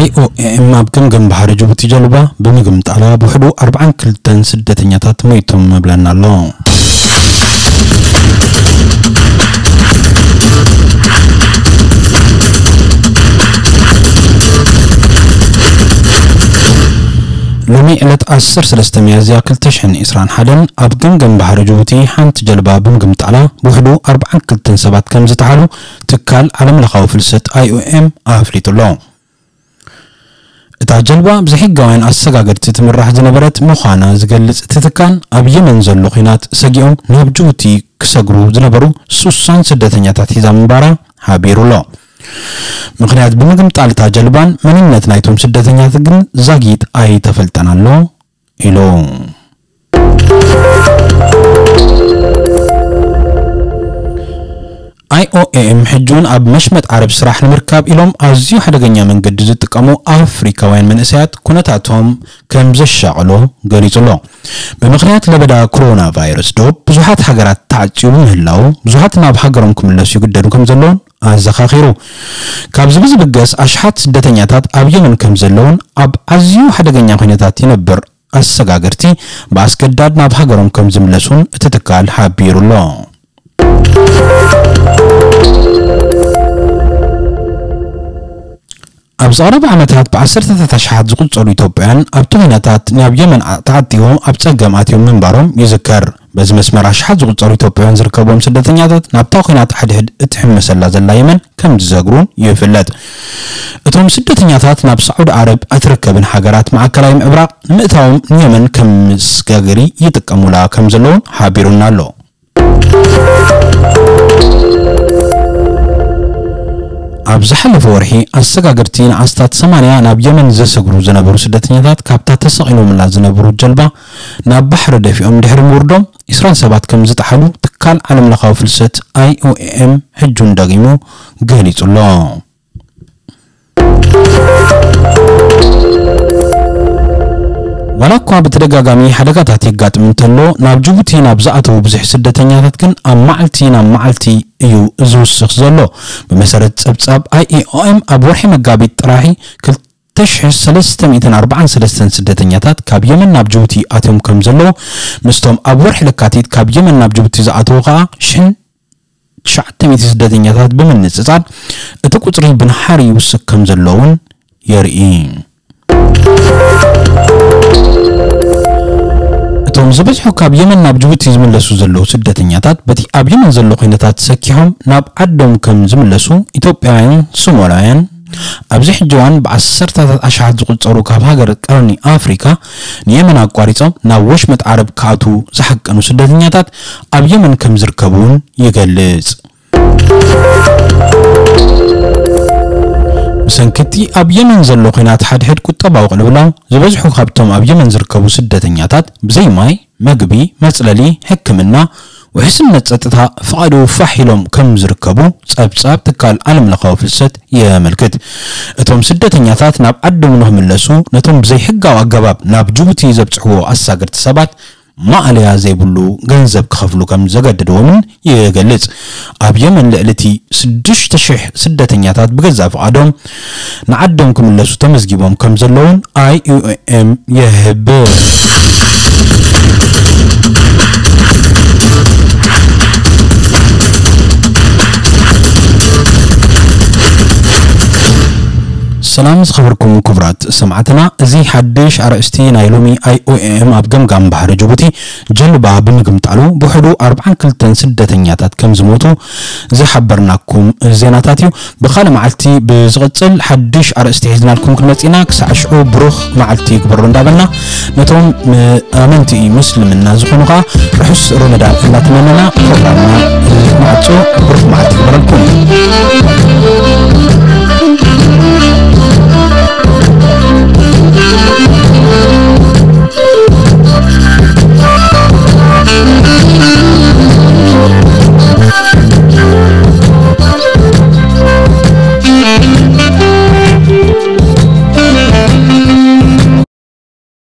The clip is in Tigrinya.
ኣይ ኦ ኤም ኣብ ገምገም ባሕሪ ጅቡቲ ጀልባ ብምግምጣላ ብውሕዱ ኣርባዓን ክልተን ስደተኛታት ሞይቶም ምብለና ኣሎ። ሎሚ ዕለት ዓሰርተ ሰለስተ ሚያዝያ ክልተ ሽሕን ዕስራን ሓደን ኣብ ገምገም ባሕሪ ጅቡቲ ሓንቲ ጀልባ ብምግምጣላ ብውሕዱ ኣርባዓን ክልተን ሰባት ከም ዝተሓሉ ትካል ዓለም ለኻዊ ፍልሰት ኣይ ኦ ኤም ኣፍሊጡ ኣሎ። እታ ጀልባ ብዘይሕጋውያን ኣሰጋገድቲ ትምራሕ ዝነበረት ምዃና ዝገልጽ እቲ ትካል፣ ኣብ የመን ዘሎ ኲናት ሰጊኦም ናብ ጅቡቲ ክሰግሩ ዝነበሩ ስሳን ስደተኛታት ሒዛ ምንባራ ሓቢሩ ኣሎ። ምኽንያት ብምግምጣል እታ ጀልባን መንነት ናይቶም ስደተኛታት ግን ዛጊት ኣይተፈልጠን ኣሎ ኢሉ። ኣይ ኦ ኤም ሕጂ እውን ኣብ መሽመጥ ዓረብ ስራሕ ንምርካብ ኢሎም ኣዝዩ ሓደገኛ መንገዲ ዝጥቀሙ ኣፍሪካውያን መንእሰያት ኩነታቶም ከም ዘሻቕሎ ገሊጹ ኣሎ። ብምኽንያት ለበዳ ኮሮና ቫይረስ ዶብ ብዙሓት ሃገራት ተዓጽዩ ብምህላው ብዙሓት ናብ ሃገሮም ክምለሱ ይግደዱ ከም ዘለውን ኣዘኻኺሩ። ካብዚ ብዝብገስ ኣሽሓት ስደተኛታት ኣብ የመን ከም ዘለውን ኣብ ኣዝዩ ሓደገኛ ኩነታት ይነብር ኣሰጋገርቲ ብኣስገዳድ ናብ ሃገሮም ከም ዝምለሱን እቲ ትካል ሓቢሩ ኣሎ። ኣብ ዝቐረበ ዓመታት ብዓሰርተታት ኣሽሓት ዝቑጸሩ ኢትዮጵያውያን ኣብቲ ኩነታት ናብ የመን ኣ-፣ ተዓቲቦም ኣብ ጸገም ኣትዮም ምንባሮም ይዝከር። በዚ መስመር ኣሽሓት ዝቑጸሩ ኢትዮጵያውያን ዝርከብዎም ስደተኛታት ናብታ ኩናት ሓድሕድ እትሕመሰላ ዘላ የመን ከም ዝዘግሩን ይፍለጥ። እቶም ስደተኛታት ናብ ሳዑዲ ዓረብ ኣትርከብን ሃገራት ማእከላይ ምዕብራቕ ንምእታዎም ንየመን ከም መስጋገሪ ይጥቀሙላ ከም ዘለውን ሓቢሩና ኣሎ። ኣብ ዝሓለፈ ወርሒ ኣሰጋገርቲ ንኣስታት ሰማንያ ናብ የመን ዘሰግሩ ዝነበሩ ስደተኛታት ካብታ ተሰቒሎምላ ዝነበሩ ጀልባ ናብ ባሕሪ ደፊኦም ድሕሪ ምውርዶም ዕስራን ሰባት ከም ዝጠሓሉ ትካል ዓለም ለኻዊ ፍልሰት ኣይ ኦ ኤም ሕጁን ደጊሙ ገሊጹ ኣሎ። ዋላ እኳ ብተደጋጋሚ ሓደጋታት የጋጥም እንተሎ፣ ናብ ጅቡቲ ናብ ዝኣተዉ ብዙሕ ስደተኛታት ግን ኣብ መዓልቲ ናብ መዓልቲ እዩ ዝውስኽ ዘሎ። ብመሰረት ጸብጻብ ኣይ ኦ ኤም ኣብ ወርሒ መጋቢት ጥራሒ ክልተ ሽሕ ሰለስተ ሚእትን ኣርባዓን ሰለስተን ስደተኛታት ካብ የመን ናብ ጅቡቲ ኣትዮም ከም ዘለዉ፣ ምስቶም ኣብ ወርሒ ለካቲት ካብ የመን ናብ ጅቡቲ ዝኣተዉ ከኣ ሽሕን ትሽዓተ ሚእቲ ስደተኛታት ብምንጽጻር፣ እቲ ቁጽሪ ብንሓር ይውስኽ ከም ዘሎ እውን የርኢ። እቶም ዝበዝሑ ካብ የመን ናብ ጅቡቲ ዝምለሱ ዘለዉ ስደተኛታት፣ በቲ ኣብ የመን ዘሎ ኲነታት ሰኪሖም ናብ ዓዶም ከም ዝምለሱ፣ ኢትዮጵያውያን፣ ሶማላውያን፣ ኣብዚ ሕጂ እዋን ብዓሰርተታት ኣሽሓት ዝቑጸሩ ካብ ሃገር ቀርኒ ኣፍሪካ ንየመን ኣቋሪጾም ናብ ወሽመጥ ዓረብ ክኣትዉ ዝሓቀኑ ስደተኛታት ኣብ የመን ከም ዝርከቡ እውን ይገልጽ። ብሰንኪ እቲ ኣብ የመን ዘሎ ኲናት ሓድሕድ ቁጠባዊ ቅልውላው፣ ዝበዝሑ ካብቶም ኣብ የመን ዝርከቡ ስደተኛታት ብዘይ ማይ፣ መግቢ፣ መጽለሊ፣ ሕክምና፣ ውሕስነት ጸጥታ ፍቓዱ ፋሕ ኢሎም ከም ዝርከቡ ጸብጻብ ትካል ዓለም ለኻዊ ፍልሰት የመልክት። እቶም ስደተኛታት ናብ ዓዶም ንኽምለሱ ነቶም ብዘይሕጋዊ ኣገባብ ናብ ጅቡቲ ዘብጽሕዎ ኣሳገርቲ ሰባት ማእለያ ዘይብሉ ገንዘብ ክኸፍሉ ከም ዘገድድዎምን ይገልጽ። ኣብ የመን ልዕሊ እቲ ሽዱሽተ ሽሕ ስደተኛታት ብገዛእ ፍቓዶም ንዓዶም ክምለሱ ተመዝጊቦም ከም ዘለውን ኣይ ኦ ኤም ይሕብር። ሰላም ዝኸበርኩም ክቡራት ሰማዕትና፣ እዚ ሓድሽ ኣርእስቲ ናይ ሎሚ ኣይ ኦ ኤም ኣብ ገምጋም ባሕሪ ጅቡቲ ጀልባ ብምግምጣሉ ብውሕዱ ኣርባዓን ክልተን ስደተኛታት ከም ዝሞቱ ዝሓበርናኩም ዜናታት እዩ። ብኻልእ መዓልቲ ብዝቕጽል ሓድሽ ኣርእስቲ ሒዝናልኩም ክንመጽእ ኢና። ክሳዕ ሽዑ ብሩኽ መዓልቲ ይግበሮ እንዳበልና፣ ነቶም ም-፣ ኣመንቲ ምስልምና ዝኾኑ ኸኣ ርሑስ ሮመዳን እናተመነና ፕሮግራምና ንዓጾ። ብሩኽ መዓልቲ ይግበረልኩም።